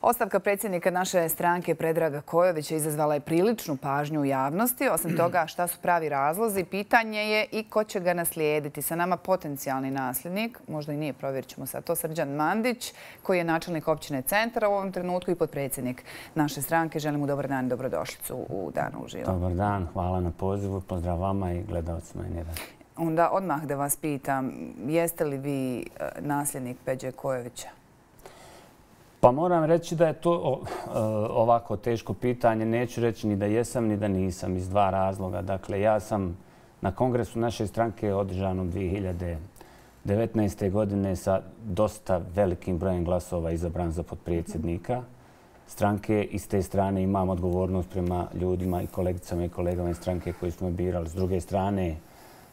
Ostavka predsjednika naše stranke Predraga Kojovića izazvala je priličnu pažnju u javnosti. Osim toga, šta su pravi razlozi, pitanje je i ko će ga naslijediti. Sa nama potencijalni nasljednik, možda i nije, provjerit ćemo sad to, Srđan Mandić, koji je načelnik općine Centar u ovom trenutku i potpredsjednik naše stranke. Želim mu dobar dan i dobrodošlicu u Danu uživo. Dobar dan, hvala na pozivu, pozdrav vama i gledalcima N1. Onda odmah da vas pitam, jeste li vi nasljednik Peđe Kojovića? Pa moram reći da je to ovako teško pitanje. Neću reći ni da jesam ni da nisam iz dva razloga. Dakle, ja sam na kongresu naše stranke održanom 2019. godine sa dosta velikim brojem glasova izabran za potpredsjednika stranke i s te strane imam odgovornost prema ljudima i kolegicama i kolegama iz stranke koji su me birali. S druge strane,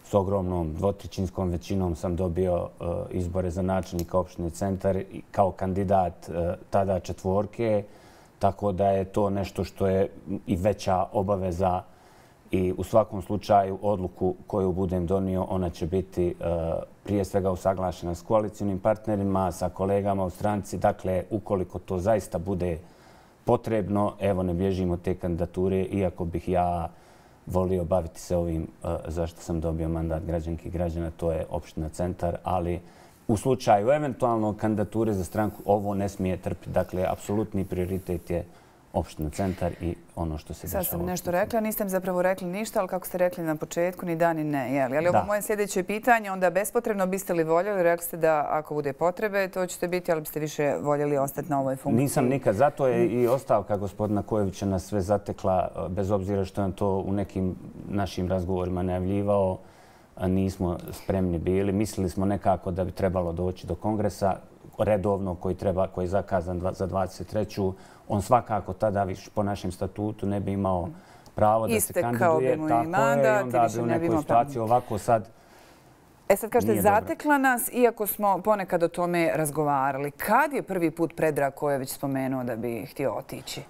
s ogromnom dvotrećinskom većinom sam dobio izbore za načelnika opštine Centar kao kandidat tada četvorke, tako da je to nešto što je i veća obaveza i u svakom slučaju odluku koju budem donio, ona će biti prije svega usaglašena s koalicijnim partnerima, sa kolegama u stranci. Dakle, ukoliko to zaista bude potrebno, evo ne bježimo te kandidature, iako bih ja volio baviti se ovim zašto sam dobio mandat građanki i građana, to je opština Centar, ali u slučaju eventualno kandidature za stranku ovo ne smije trpiti. Dakle, apsolutni prioritet je opština Centar i ono što se dešava. Sad sam nešto rekla, niste mi zapravo rekli ništa, ali kako ste rekli na početku, ni da ni ne. Ali ovo moje sljedeće pitanje, onda bespotrebno biste li voljeli, rekli ste da ako bude potrebe, to ćete biti, ali biste više voljeli ostati na ovoj funkciji? Nisam nikad. Zato je i ostavka gospodina Kojovića nas sve zatekla, bez obzira što je to u nekim našim razgovorima najavljivao. Nismo spremni bili. Mislili smo nekako da bi trebalo doći do kongresa redovno koji je zakazan za 23. On svakako tada po našem statutu ne bi imao pravo da se kandiduje. Istekao bi mu i mandat i više ne bi imao situaciju ovako sad. Sad kažete, zatekla nas, iako smo ponekad o tome razgovarali. Kad je prvi put Predrag Kojović spomenuo da bi htio otići?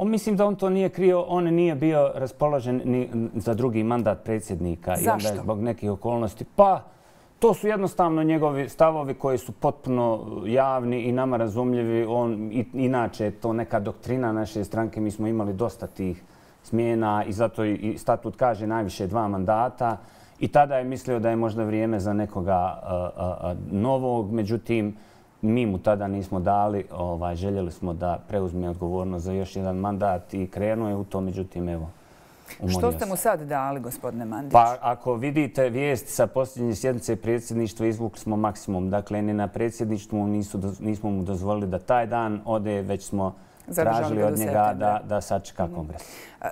Mislim da on to nije krio. On nije bio raspoložen ni za drugi mandat predsjednika. Zašto? Zbog nekih okolnosti. Pa, to su jednostavno njegovi stavovi koji su potpuno javni i nama razumljivi. Inače, to neka doktrina naše stranke. Mi smo imali dosta tih smjena i zato i statut kaže najviše 2 mandata. I tada je mislio da je možda vrijeme za nekoga novog. Međutim, mi mu tada nismo dali. Željeli smo da preuzme odgovornost za još jedan mandat i krenuo je u to. Međutim, evo, što ste mu sad dali, gospodine Mandić? Pa ako vidite vijest sa posljednje sjednice predsjedništva, izvukli smo maksimum. Dakle, ni na predsjedništvu nismo mu dozvolili da taj dan ode, već smo tražili od njega da sačeka kongres.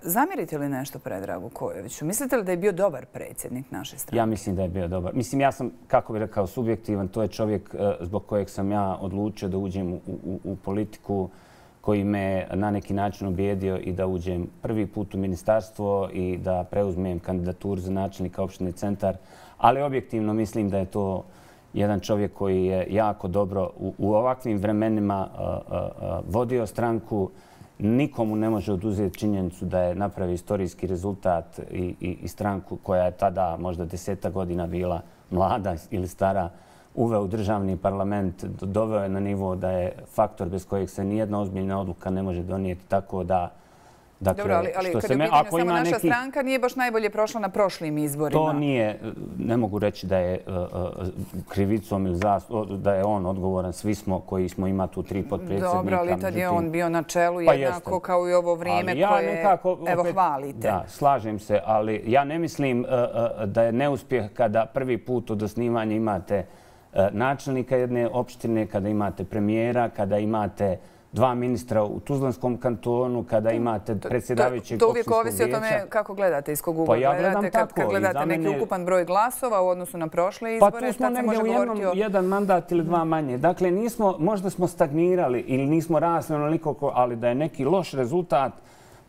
Zamjerite li nešto Predragu Kojoviću? Mislite li da je bio dobar predsjednik naše stranke? Ja mislim da je bio dobar. Mislim, ja sam, kako bih rekao, subjektivan. To je čovjek zbog kojeg sam ja odlučio da uđem u politiku, koji me na neki način ubijedio i da uđem prvi put u ministarstvo i da preuzmem kandidaturu za načelnika opštine Centar. Ali objektivno mislim da je to jedan čovjek koji je jako dobro u ovakvim vremenima vodio stranku. Nikomu ne može oduzeti činjenicu da je napravio istorijski rezultat i stranku koja je tada možda 10 godina bila mlada ili stara, uveo u državni parlament, doveo je na nivo da je faktor bez kojeg se nijedna ozbiljna odluka ne može donijeti. Tako da... Dobro, ali kada je u pitanju samo naša stranka, nije baš najbolje prošla na prošlim izborima. To nije, ne mogu reći da je krivicom ili da je on odgovoran. Svi smo koji smo ima tu 3 potpredsjednika. Dobro, ali tad je on bio na čelu jednako kao i ovo vrijeme koje, evo, hvalite. Da, slažem se, ali ja ne mislim da je neuspjeh kada prvi put od osnivanja imate načelnika jedne opštine, kada imate premijera, kada imate 2 ministra u Tuzlanskom kantonu, kada imate predsjedavajućeg opštinskog vijeća. To uvijek ovisi o tome kako gledate, iz kog ugla gledate. Kad gledate neki ukupan broj glasova u odnosu na prošle izbore, pa tu smo negdje u jedan mandat ili 2 manje. Dakle, možda smo stagnirali ili nismo rasli onoliko, ali da je neki loš rezultat,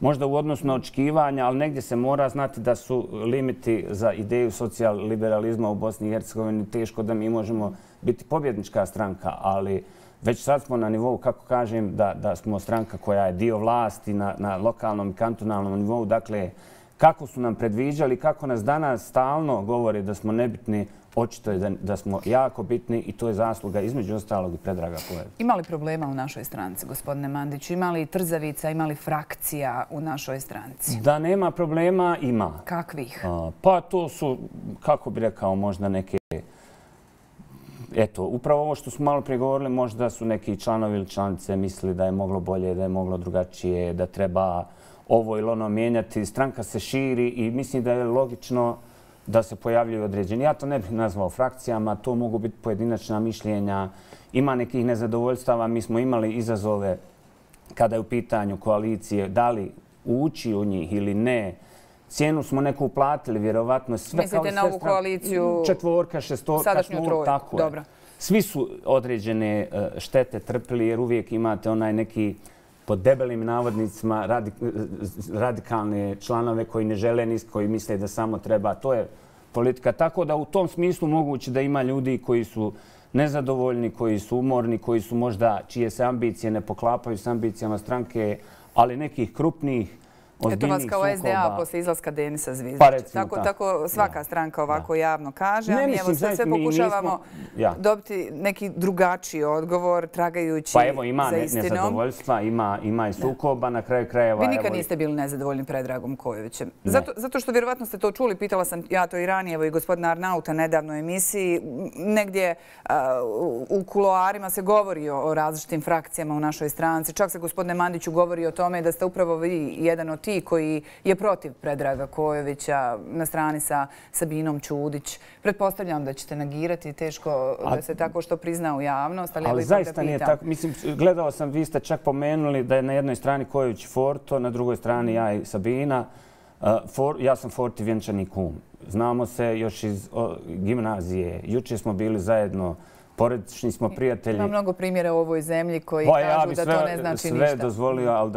možda u odnosu na očekivanja, ali negdje se mora znati da su limiti za ideju socijal-liberalizma u Bosni i Hercegovini teško da mi možemo biti pobjednička stranka, ali već sad smo na nivou, kako kažem, da smo stranka koja je dio vlasti na lokalnom i kantonalnom nivou. Dakle, kako su nam predviđali, kako nas danas stalno govore da smo nebitni, očito je da smo jako bitni i to je zasluga između ostalog i Predraga Kojovića. Ima li problema u našoj stranci, gospodine Mandiću? Ima li trzavica, ima li frakcija u našoj stranci? Da nema problema, ima. Kakvih? Pa to su, kako bi rekao, možda neke... Eto, upravo ovo što smo malo prije govorili, možda su neki članovi ili članice mislili da je moglo bolje, da je moglo drugačije, da treba ovo ili ono mijenjati. Stranka se širi i mislim da je logično da se pojavljuju određeni. Ja to ne bih nazvao frakcijama, to mogu biti pojedinačna mišljenja. Ima nekih nezadovoljstava. Mi smo imali izazove kada je u pitanju koalicije, da li ući u njih ili ne. Cijenu smo neku uplatili, vjerovatno. Mislite na ovu koaliciju? Četvorka, šestorka. Sadašnju trojku, dobro. Svi su određene štete trpili jer uvijek imate onaj neki pod debelim navodnicima radikalne članove koji ne žele ništa, koji misle da samo treba. To je politika. Tako da u tom smislu moguće da ima ljudi koji su nezadovoljni, koji su umorni, koji su možda, čije se ambicije ne poklapaju s ambicijama stranke, ali nekih krupnih, ozbiljnih sukoba. Eto vas kao SDA posle izlaska Denisa Zvizdića. Tako svaka stranka ovako javno kaže. A mi evo sve pokušavamo dobiti neki drugačiji odgovor, tragajući za istinom. Pa evo ima nezadovoljstva, ima i sukoba na kraju krajeva. Vi nikad niste bili nezadovoljni Predragom Kojovićem. Zato što vjerovatno ste to čuli, pitala sam ja to i ranije, evo i gospodina Arnauta nedavno u emisiji, negdje u kuloarima se govori o različitim frakcijama u našoj stranci. Čak se, gospodine Mandiću, govori o tome da ste upravo vi jedan od tih koji je protiv Predraga Kojovića na strani sa Sabinom Ćudić. Pretpostavljam da ćete negirati, teško da se tako što prizna u javnost, ali ali zaista nije tako. Mislim, gledao sam, vi ste čak pomenuli da je na jednoj strani Kojović Forto, na drugoj strani ja i Sabina. Ja sam Forti vjenčani kum. Znamo se još iz gimnazije. Juče smo bili zajedno, porodični smo prijatelji. Ima mnogo primjera u ovoj zemlji koji kažu da to ne znači ništa. Ja bih sve dozvolio, ali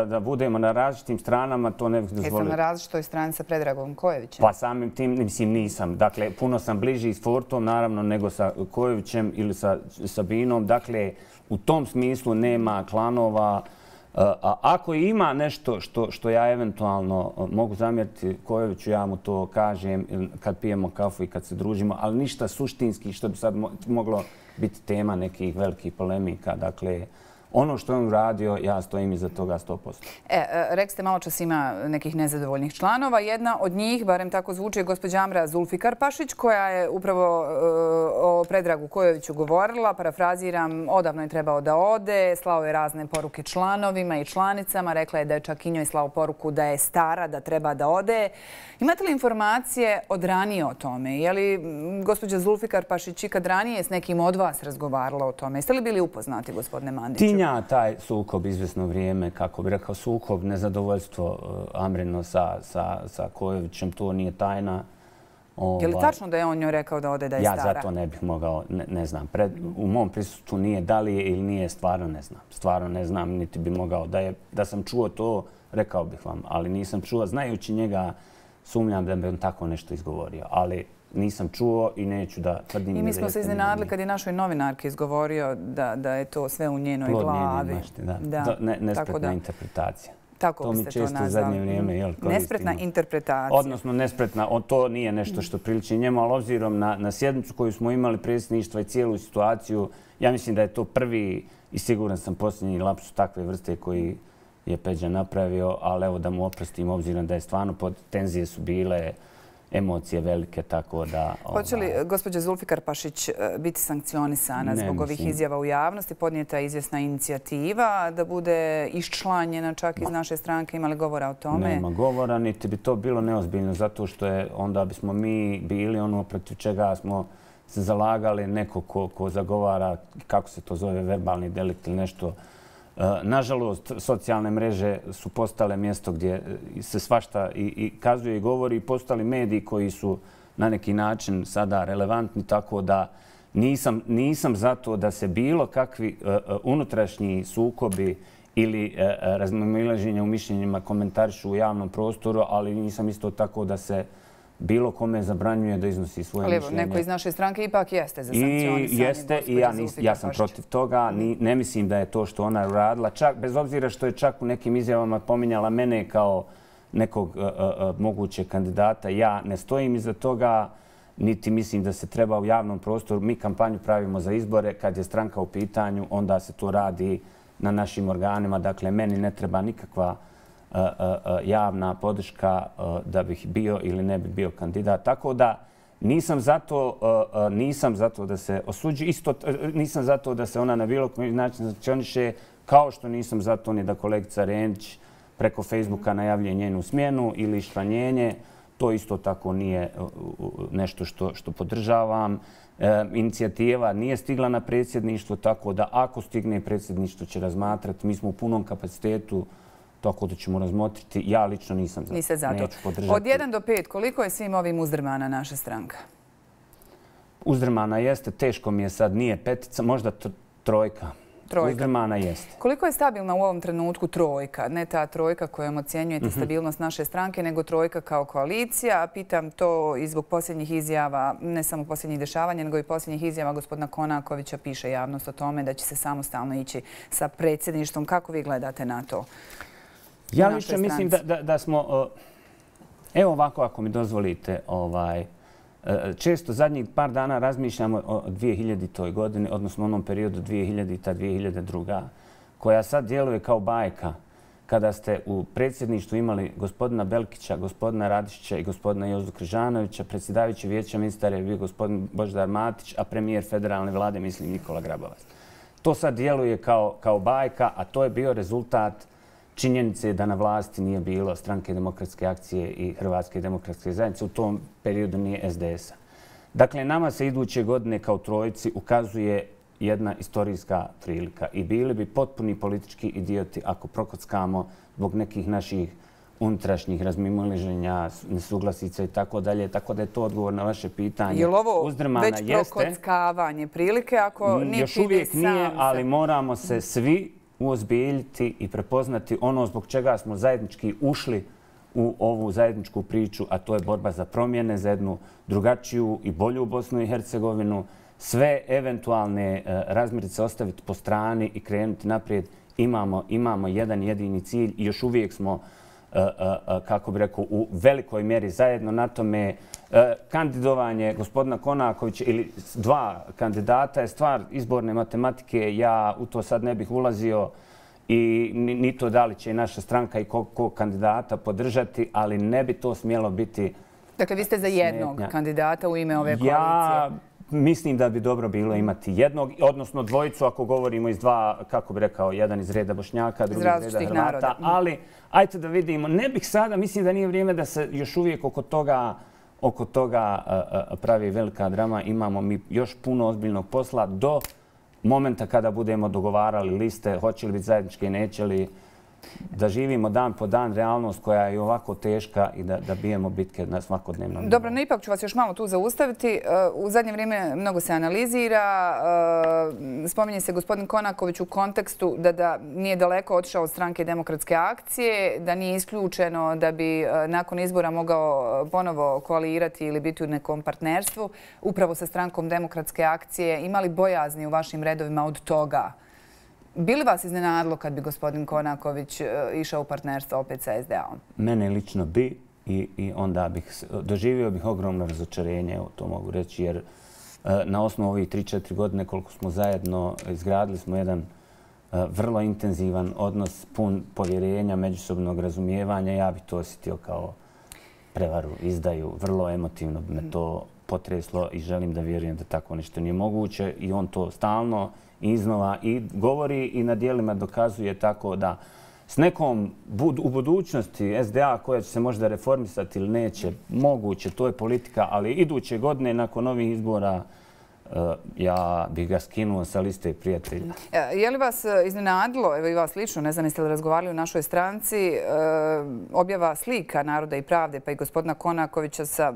da budemo na različitim stranama, to ne bih dozvolio. Jesam na različitoj strani sa Predragom Kojovićem? Pa samim tim, mislim, nisam. Dakle, puno sam bliži s Fortom, naravno, nego sa Kojovićem ili sa Sabinom. Dakle, u tom smislu nema klanova. A ako ima nešto što ja eventualno mogu zamjeriti Kojoviću, ja mu to kažem kad pijemo kafu i kad se družimo, ali ništa suštinski što bi sad moglo biti tema nekih velikih polemika. Dakle, ono što je on uradio, ja stojim iza toga 100%. Rekli ste malo čas ima nekih nezadovoljnih članova. Jedna od njih, barem tako zvuči, je gospođa Amra Zulfikar-Pašić, koja je upravo o Predragu Kojoviću govorila. Parafraziram, odavno je trebao da ode, slao je razne poruke članovima i članicama. Rekla je da je čak i njoj slao poruku da je stara, da treba da ode. Imate li informacije od ranije o tome? Je li gospođa Zulfikar-Pašić ikad ranije s nekim od vas razgovarala o tome? Jeste li bili upoznati, gospodine Mandiću? Taj sukob izvjesno vrijeme, kako bi rekao, sukob, nezadovoljstvo Amrino sa Kojovićem, to nije tajna. Je li tačno da je on njoj rekao da ode da je stara? Ja za to ne bih mogao, ne znam. U mom prisustvu nije da li je ili nije, stvarno ne znam. Stvarno ne znam, niti bi mogao. Da sam čuo to, rekao bih vam, ali nisam čuo. Znajući njega, sumnjam da bi on tako nešto izgovorio. Ali nisam čuo i neću da tvrdim. I mi smo se iznenadili kad je našoj novinarki izgovorio da je to sve u njenoj glavi. Plod njene mašte, da. Nespretna interpretacija. Tako biste to nazvali. To mi često u zadnje vrijeme koristimo. Nespretna interpretacija. Odnosno nespretna, to nije nešto što priliči njemu, ali obzirom na sjednicu koju smo imali predsjedništva i cijelu situaciju, ja mislim da je to prvi i siguran sam posljednji lapsus takve vrste koji je Peđa napravio, ali evo da mu oprostim obzirom da je stvarno tenzije su bile, emocije velike, tako da... Hoće li gospođa Zulfikar-Pašić biti sankcionisana zbog ovih izjava u javnosti? Podnijeta je izvjesna inicijativa da bude iščlanjena čak iz naše stranke. Ima li govora o tome? Nema govora, niti bi to bilo neozbiljno, zato što onda bismo mi bili ono protiv čega smo se zalagali, neko ko zagovara, kako se to zove, verbalni delikt ili nešto. Nažalost, socijalne mreže su postale mjesto gdje se svašta i kazuje i govori i postali mediji koji su na neki način sada relevantni, tako da nisam za to da se bilo kakvi unutrašnji sukobi ili razmimoilaženja u mišljenjima komentarišu u javnom prostoru, ali nisam isto tako da se bilo kome zabranjuje da iznosi svoje mišljenje. Ali evo, neko iz naše stranke ipak jeste za sankcionisanje. Jeste i ja sam protiv toga. Ne mislim da je to što ona uradila. Čak, bez obzira što je čak u nekim izjavama pominjala mene kao nekog mogućeg kandidata. Ja ne stojim iza toga, niti mislim da se treba u javnom prostoru. Mi kampanju pravimo za izbore. Kad je stranka u pitanju, onda se to radi na našim organima. Dakle, meni ne treba nikakva javna podrška da bih bio ili ne bi bio kandidat. Tako da nisam zato da se osuđi, nisam zato da se ona na bilo koji način sankcioniše, kao što nisam zato ni da kolegica Rendić preko Facebooka najavljuje njenu smjenu ili šranjenje. To isto tako nije nešto što podržavam. Inicijativa nije stigla na predsjedništvo, tako da ako stigne predsjedništvo će razmatrati. Mi smo u punom kapacitetu, tako da ćemo razmotriti. Ja lično nisam za to. Neću podržati. Od 1 do 5, koliko je svim ovim uzdrmana naša stranka? Uzdrmana jeste, teško mi je sad, nije petica, možda trojka. Uzdrmana jeste. Koliko je stabilna u ovom trenutku trojka? Ne ta trojka kojom ocjenjujete stabilnost naše stranke, nego trojka kao koalicija. Pitam to i zbog posljednjih izjava, ne samo posljednjih dešavanja, nego i posljednjih izjava gospodina Konakovića. Piše javnost o tome da će se samostalno ići sa predsjedništvom. Kako vi gledate na to? Ja lično mislim da smo... Evo ovako, ako mi dozvolite, često zadnjih par dana razmišljamo o 2000. godini, odnosno onom periodu 2000-2002. koja sad djeluje kao bajka. Kada ste u predsjedništvu imali gospodina Belkića, gospodina Radišića i gospodina Jozu Križanovića, predsjedavajući vijeća ministara je bio gospodin Božidar Matić, a premijer federalne vlade, mislim, Nikola Grabovac. To sad djeluje kao bajka, a to je bio rezultat činjenice da na vlasti nije bilo Stranke demokratske akcije i Hrvatske demokratske zajednice. U tom periodu nije SDS-a. Dakle, nama se iduće godine kao trojici ukazuje jedna istorijska prilika i bili bi potpuni politički idioti ako prokockamo zbog nekih naših unutrašnjih razmimoilaženja, nesuglasica i tako dalje. Tako da je to odgovor na vaše pitanje. Je li ovo već prokockavanje prilike ako niti još uvijek nije, ali moramo se svi uozbiljiti i prepoznati ono zbog čega smo zajednički ušli u ovu zajedničku priču, a to je borba za promjene, za jednu drugačiju i bolju Bosnu i Hercegovinu. Sve eventualne razmirice ostaviti po strani i krenuti naprijed. Imamo jedan jedini cilj i još uvijek smo, kako bih rekao, u velikoj mjeri zajedno na tome. Kandidovanje gospodina Konakovića ili dva kandidata je stvar izborne matematike. Ja u to sad ne bih ulazio i ni to da li će i naša stranka i ko kandidata podržati, ali ne bi to smjelo biti... Dakle, vi ste za jednog kandidata u ime ove koalicije? Ja mislim da bi dobro bilo imati jednog, odnosno dvojicu ako govorimo iz dva, kako bih rekao, jedan iz reda Bošnjaka, drugi iz reda Hrvata. Ali, ajte da vidimo, ne bih sada, mislim da nije vrijeme da se još uvijek oko toga pravi velika drama. Imamo mi još puno ozbiljnog posla do momenta kada budemo dogovarali liste, hoće li biti zajedničke i neće li, da živimo dan po dan realnost koja je ovako teška i da bijemo bitke na svakodnevnom nivou. Dobro, no ipak ću vas još malo tu zaustaviti. U zadnje vrijeme mnogo se analizira. Spominje se gospodin Konaković u kontekstu da nije daleko otišao od Stranke demokratske akcije, da nije isključeno da bi nakon izbora mogao ponovo koalirati ili biti u nekom partnerstvu. Upravo sa Strankom demokratske akcije imali bojazni u vašim redovima od toga? Bi li vas iznenadilo kad bi gospodin Konaković išao u partnerstvo opet sa SDA-om? Mene lično bi i onda doživio bih ogromno razočarenje, to mogu reći, jer na osnovu ovih 3-4 godine koliko smo zajedno izgradili smo jedan vrlo intenzivan odnos, pun povjerenja, međusobnog razumijevanja. Ja bih to osjetio kao prevaru, izdaju. Vrlo emotivno bi me to potreslo i želim da vjerujem da tako nešto nije moguće i on to stalno iznova i govori i na dijelima dokazuje, tako da s nekom u budućnosti SDA koja će se možda reformisati ili neće, moguće, to je politika, ali iduće godine nakon ovih izbora ja bih ga skinuo sa liste prijatelja. Je li vas iznenadilo, evo i vas lično, ne znam jeste li razgovarali u našoj stranci, objava slika Naroda i pravde pa i gospodina Konakovića sa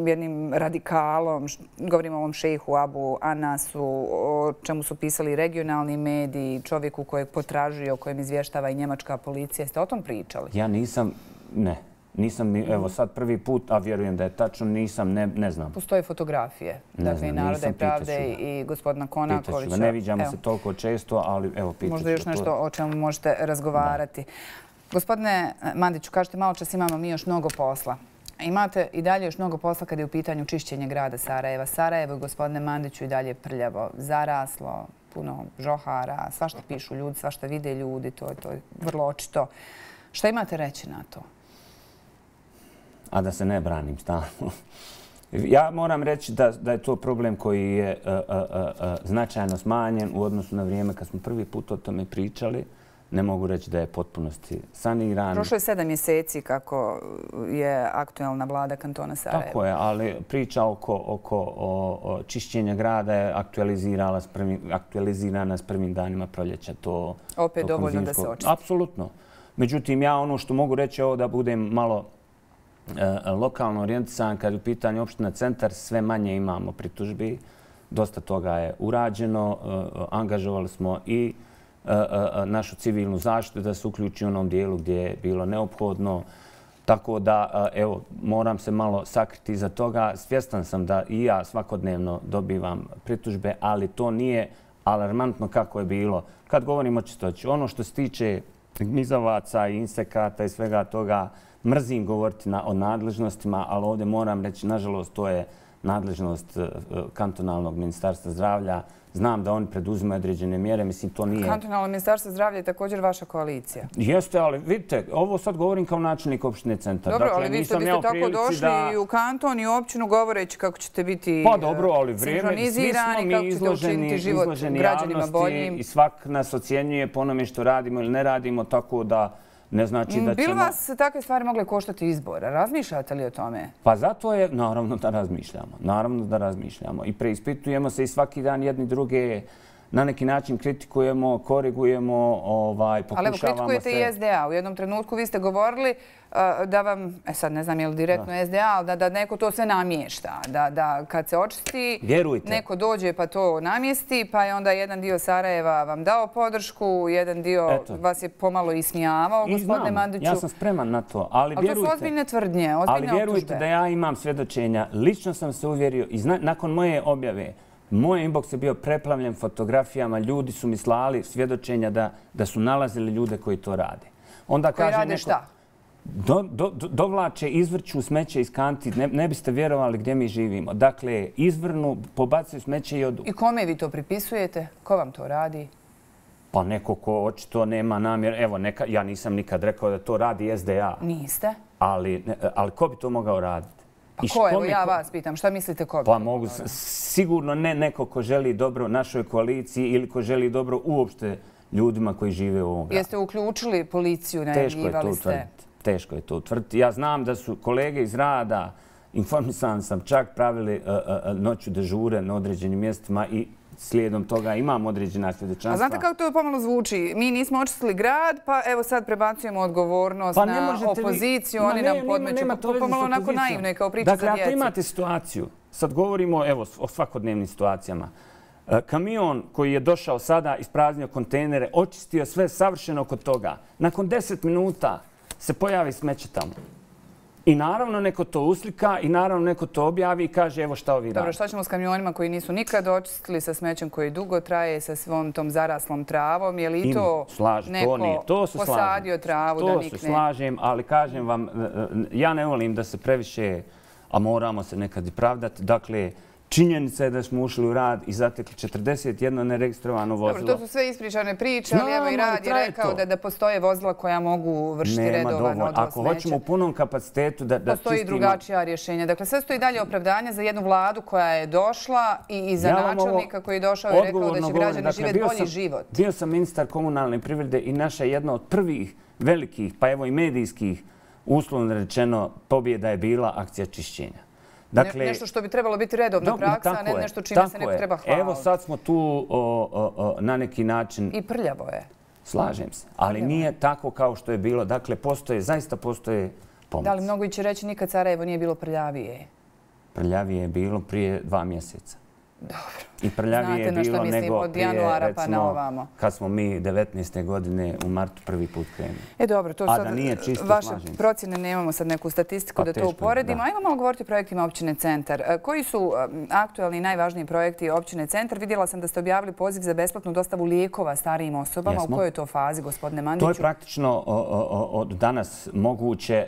jednim radikalom, govorimo o ovom šejhu Abu Anasu, o čemu su pisali regionalni mediji, čovjeku kojeg potražuje, o kojem izvještava i njemačka policija. Jeste o tom pričali? Ja nisam, ne. Nisam, evo sad prvi put, a vjerujem da je tačno, nisam, ne znam. Postoje fotografije, dakle i Naroda i pravde i gospodina Konakovića. Ne viđamo se toliko često, ali evo, pitaću. Možda još nešto o čemu možete razgovarati. Gospodine Mandiću, kažete malo čas imamo mi još mnogo posla. Imate i dalje još mnogo posla kada je u pitanju čišćenje grada Sarajeva. Sarajevo, gospodine Mandiću, i dalje prljavo, zaraslo, puno žohara, svašta pišu ljudi, svašta vide ljudi, to je vrlo očito. Šta imate reći na to? A da se ne branim stalno. Ja moram reći da je to problem koji je značajno smanjen u odnosu na vrijeme kad smo prvi put o tome pričali. Ne mogu reći da je potpunosti saniran. Prošlo je 7 mjeseci kako je aktuelna vlada kantona Sarajeva. Tako je, ali priča oko čišćenja grada je aktualizirana s prvim danima proljeća. Opet dovoljno da se očisti. Apsolutno. Međutim, ja ono što mogu reći je ovo da budem malo lokalno orijentisan, kad je u pitanju opština Centar, sve manje imamo pritužbi. Dosta toga je urađeno. Angažovali smo i našu civilnu zaštitu da se uključi u onom dijelu gdje je bilo neophodno. Tako da, evo, moram se malo sakriti iza toga. Svjestan sam da i ja svakodnevno dobivam pritužbe, ali to nije alarmantno kako je bilo. Kad govorimo o čistoći, ono što se tiče gnjizavaca i insekata i svega toga, mrzim govoriti o nadležnostima, ali ovdje moram reći, nažalost, to je nadležnost kantonalnog ministarstva zdravlja. Znam da oni preduzimaju određene mjere, mislim, to nije... Kantonalno ministarstvo zdravlja je također vaša koalicija. Jeste, ali vidite, ovo sad govorim kao načelnik opštine Centar. Dobro, ali vi ste tako došli i u kanton i u općinu govoreći kako ćete biti sinkronizirani, kako ćete učiniti život građanima boljim. I svak nas ocjenjuje po onome što radimo ili ne radimo, tako da ne znači da ćemo... Bi li vas takve stvari mogle koštati izbora? Razmišljate li o tome? Pa zato je, naravno da razmišljamo. Naravno da razmišljamo. I preispitujemo se i svaki dan jedni druge na neki način kritikujemo, korigujemo, pokušavamo se... Ali evo, kritikujete i SDA. U jednom trenutku vi ste govorili da vam, sad ne znam je li direktno SDA, ali da neko to sve namješta. Da kad se očisti, neko dođe pa to namjesti, pa je onda jedan dio Sarajeva vam dao podršku, jedan dio vas je pomalo ismijavao, gospodine Mandiću. Ja sam spreman na to, ali to su ozbiljne tvrdnje, ozbiljne optužbe. Ali vjerujte da ja imam svjedočenja. Lično sam se uvjerio i nakon moje objave, moj inbox je bio preplavljen fotografijama, ljudi su mi slali svjedočenja da su nalazili ljude koji to rade. Koji rade šta? Dovlače, izvrću smeće iz kanti, ne biste vjerovali gdje mi živimo. Dakle, izvrnu, pobacuju smeće i odu. I kome vi to pripisujete? Ko vam to radi? Pa neko ko očito nema namjer. Evo, ja nisam nikad rekao da to radi SDA. Niste? Ali ko bi to mogao raditi? Pa ko? Evo ja vas pitam, šta mislite ko bi to mogao raditi? Sigurno ne neko ko želi dobro našoj koaliciji ili ko želi dobro uopšte ljudima koji žive u ovom gradu. Jeste uključili policiju, najavljivali ste? Teško je to utvrditi. Ja znam da su kolege iz rada, informisan sam, čak pravili noću dežure na određenim mjestima i slijedom toga imam određena svjedočanstva. A znate kako to pomalo zvuči? Mi nismo očistili grad, pa evo sad prebacujemo odgovornost na opoziciju, oni nam podmeću. To je pomalo onako naivno kao priča za djecu. Dakle, ako imate situaciju, sad govorimo o svakodnevnim situacijama, kamion koji je došao sada, ispraznio kontejnere, očistio sve savršeno kod toga. Nakon 10 minuta se pojavi smeće tamo. I naravno neko to uslika i naravno neko to objavi i kaže evo šta ovi radi. Dobro, šta ćemo s kamionima koji nisu nikad očistili, sa smećem koji dugo traje, sa svom tom zaraslom travom? Je li i to neko posadio travu da nikne? To se slažem, ali kažem vam, ja ne volim da se previše, a moramo se nekad i pravdati. Dakle, činjenica je da smo ušli u rad i zatekli 41 neregistrovano vozilo. Dobro, to su sve ispričane priče, ali evo i rad je rekao da postoje vozila koja mogu vršiti redovan odvoz smeća. Ako hoćemo u punom kapacitetu da čistimo... Postoji drugačija rješenja. Dakle, sve stoji dalje opravdanje za jednu vladu koja je došla i za načelnika koji je došao i rekao da će građani živjeti bolji život. Bio sam ministar komunalne privrede i naša jedna od prvih velikih, pa evo i medijskih, uslovno rečeno, pobjeda je bila akcija čišćenja. Nešto što bi trebalo biti redovna praksa, a ne nešto čime se neko treba hvaliti. Evo sad smo tu na neki način... I prljavo je. Slažem se, ali nije tako kao što je bilo. Dakle, zaista postoje pomaci. Da li mnogo će reći nikad Sarajevo nije bilo prljavije? Prljavije je bilo prije 2 mjeseca. I prljavije je bilo nego prije, recimo, kad smo mi 19. godine u martu prvi put krenuli. Dobro, to sad vaše procjene, nemamo sad neku statistiku da to uporedimo. Ajmo malo govoriti o projektima općine Centar. Koji su aktualni i najvažniji projekti općine Centar? Vidjela sam da ste objavili poziv za besplatnu dostavu lijekova starijim osobama. U kojoj je to fazi, gospodine Mandiću? To je praktično od danas moguće.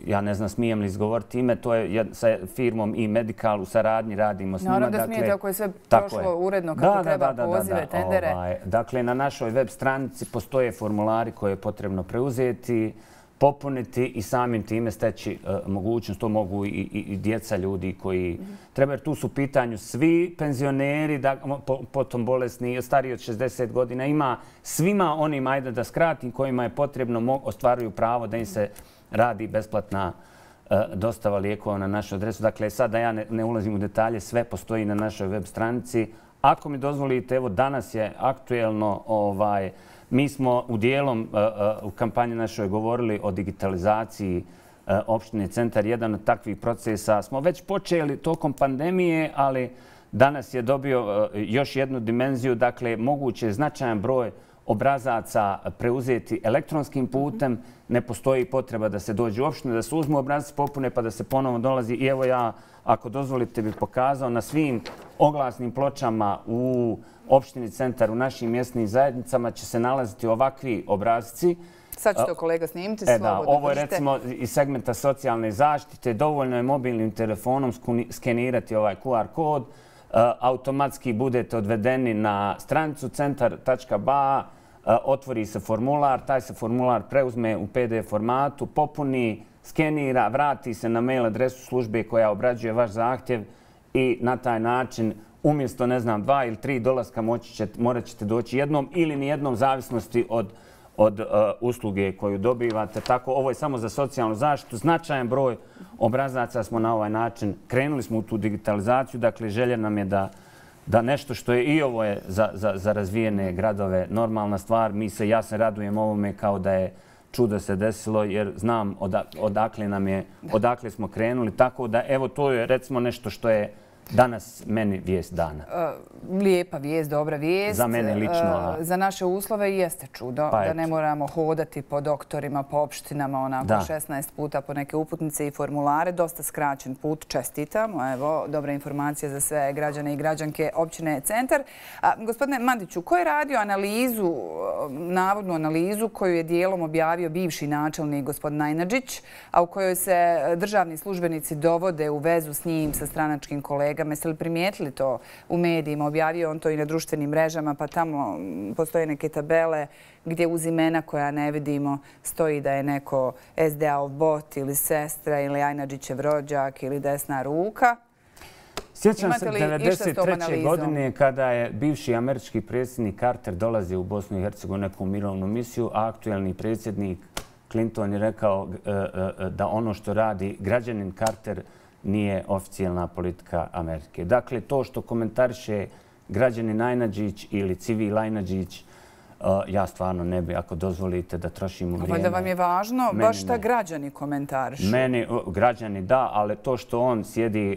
Ja ne znam smijem li izgovoriti ime, to je sa firmom i Medical u saradnji radimo s njima. Naravno da smijete ako je sve prošlo uredno kako treba, pozive, tendere. Dakle, na našoj web stranici postoje formulari koje je potrebno preuzeti, popuniti i samim time steći mogućnost. To mogu i djeca ljudi koji treba, jer tu su u pitanju svi penzioneri, potom bolesni, stariji od 60 godina. Ima svima onim, ajde da skratim, kojima je potrebno, ostvaruju pravo da im se radi besplatna dostava lijekova na našu adresu. Dakle, sad da ja ne ulazim u detalje, sve postoji na našoj web stranici. Ako mi dozvolite, evo danas je aktuelno, mi smo u dijelom u kampanji našoj govorili o digitalizaciji opštine Centar. Jedan od takvih procesa smo već počeli tokom pandemije, ali danas je dobio još jednu dimenziju. Dakle, moguće je značajan broj obrazaca preuzeti elektronskim putem. Ne postoji potreba da se dođe u opštinu, da se uzmu obrazac, popune pa da se ponovo dolazi. I evo ja, ako dozvolite, bih pokazao na svim oglasnim pločama u opštini Centar, u našim mjesnim zajednicama će se nalaziti ovakvi obrazci. Sad ćete kolega snimiti, slobodno. Ovo je recimo iz segmenta socijalne zaštite. Dovoljno je mobilnim telefonom skenirati ovaj QR kod. Automatski budete odvedeni na stranicu centar.ba, otvori se formular, taj se formular preuzme u PDF formatu, popuni, skenira, vrati se na mail adresu službe koja obrađuje vaš zahtjev i na taj način umjesto, ne znam, 2 ili 3 dolaska morat ćete doći jednom ili nijednom zavisnosti od usluge koju dobivate. Tako, ovo je samo za socijalnu zaštitu. Značajan broj obrazaca smo na ovaj način. Krenuli smo u tu digitalizaciju. Dakle, želja nam je da nešto što je i ovo je za razvijene gradove normalna stvar. Ja se radujem ovome kao da je čudo se desilo jer znam odakle smo krenuli. Tako da, evo, to je recimo nešto što je danas meni vijest dana. Lijepa vijest, dobra vijest. Za mene lično. Za naše uslove jeste čudo da ne moramo hodati po doktorima, po opštinama, onako 16 puta po neke uputnice i formulare. Dosta skraćen put, čestitamo. Evo, dobra informacija za sve građane i građanke općine Centar. Gospodine Mandiću, ko je radio analizu, navodnu analizu koju je dijelom objavio bivši načelnik gospodin Najnadžić, a u kojoj se državni službenici dovode u vezu s njim, sa stranačkim kolegama? Jeste li primijetili to u medijima? Objavio on to i na društvenim mrežama, pa tamo postoje neke tabele gdje uz imena koja ne vidimo stoji da je neko SDA-ov bot ili sestra ili Ajnadžićev rođak ili desna ruka. Sjećam se 1993. godine kada je bivši američki predsjednik Carter dolazio u Bosnu i Hercegovinu neku mirovnu misiju, a aktuelni predsjednik Clinton je rekao da ono što radi građanin Carter nije oficijalna politika Amerike. Dakle, to što komentariše građanin Ajnadžić ili civil Ajnadžić, ja stvarno ne bi, ako dozvolite, da trošimo vrijeme. Da vam je važno baš šta građani komentarišu? Meni, građani da, ali to što on sjedi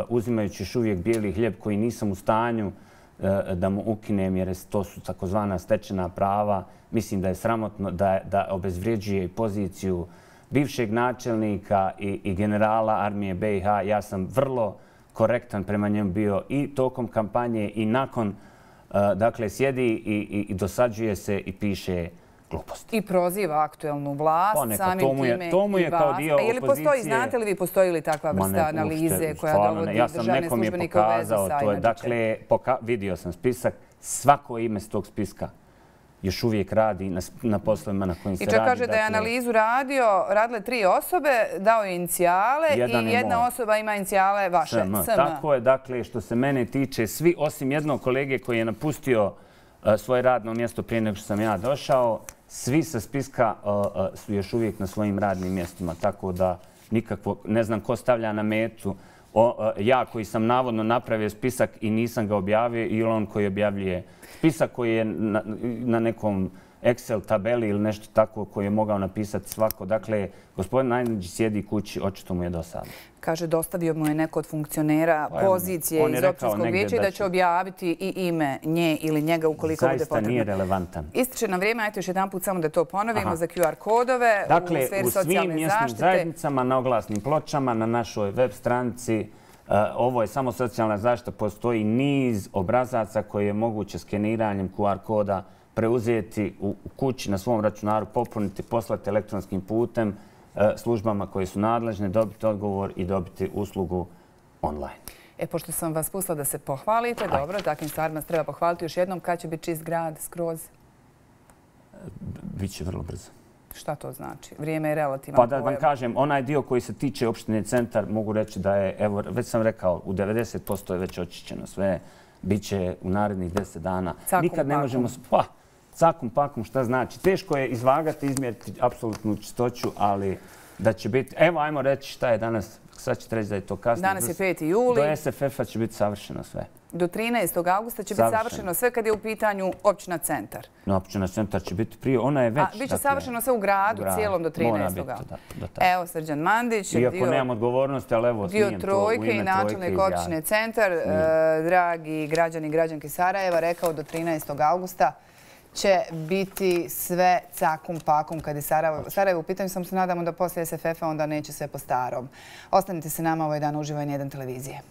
uzimajući još uvijek bijeli hljeb koji nisam u stanju da mu ukinem, jer to su takozvana stečena prava, mislim da je sramotno da obezvrijeđuje poziciju bivšeg načelnika i generala armije BiH. Ja sam vrlo korektan prema njemu bio i tokom kampanje i nakon. Dakle, sjedi i dosađuje se i piše gluposti. I proziva aktuelnu vlast, samim time i vas. To mu je kao dio opozicije. Znate li vi, postoji li takva vrsta analize koja dovodi državne službenike u vezu sa Ajnadžićem? Dakle, vidio sam spisak, svako ime s tog spiska još uvijek radi na poslovima na kojim se radi. I čak kaže da je analizu radile 3 osobe, dao je inicijale i jedna osoba ima inicijale vaše, SM. Tako je, dakle, što se mene tiče, svi osim jednog kolege koji je napustio svoje radno mjesto prije nego što sam ja došao, svi sa spiska su još uvijek na svojim radnim mjestima. Tako da nikakvo, ne znam ko stavlja na metu. Ja koji sam navodno napravio spisak i nisam ga objavio ili on koji objavljuje spisak koji je na nekom Excel tabeli ili nešto tako koje je mogao napisati svako. Dakle, gospodin Najnić sjedi kući, očito mu je dosadno. Kaže, dostavio mu je neko od funkcionera pozicije iz općinskog vijeća i da će objaviti i ime nje ili njega ukoliko bude potrebno. Zaista nije relevantan. Ističe nam vrijeme, ajte još jedan put samo da to ponovimo za QR kodove u sferi socijalne zaštite. Dakle, u svim mjesnim zajednicama, na oglasnim pločama, na našoj web stranici, ovo je samo socijalna zaštita, postoji niz obrazaca koje je moguće skeniranjem QR koda preuzeti u kući na svom računaru, popuniti, poslati elektronskim putem službama koje su nadležne, dobiti odgovor i dobiti uslugu online. Pošto sam vas pustila da se pohvalite, dobro, takvim stvarima se treba pohvaliti još jednom. Kad će biti čist grad skroz? Biće vrlo brzo. Šta to znači? Vrijeme je relativan pojam. Pa da vam kažem, onaj dio koji se tiče opštine Centar, mogu reći da je, evo, već sam rekao, u 90% je već očišćeno sve. Biće u narednih 10 dana. Nikad ne možemo... Pa, cakum pakom, šta znači? Teško je izvagati, izmjeriti apsolutnu čistoću, ali da će biti... Evo, ajmo reći šta je danas. Sad ćete reći da je to kasno. Danas je 5. juli. Do SFF-a će biti savršeno sve. Do 13. augusta će biti savršeno sve kad je u pitanju općina Centar. No, općina Centar će biti prije. Ona je već... A biće savršeno sve u gradu, cijelom do 13. augusta. Evo, Srđan Mandić. Iako nemam odgovornosti, ali evo, smijem to u ime Trojke i načelnik općine Centar, dragi građani i građanke Sarajeva, rekao do 13. augusta će biti sve cakum pakum kad je Sarajevo u pitanju. Samo se nadamo da poslije SFF-a onda neće sve po starom. Ostanite se nama, ovaj dan uživo N1 televizije.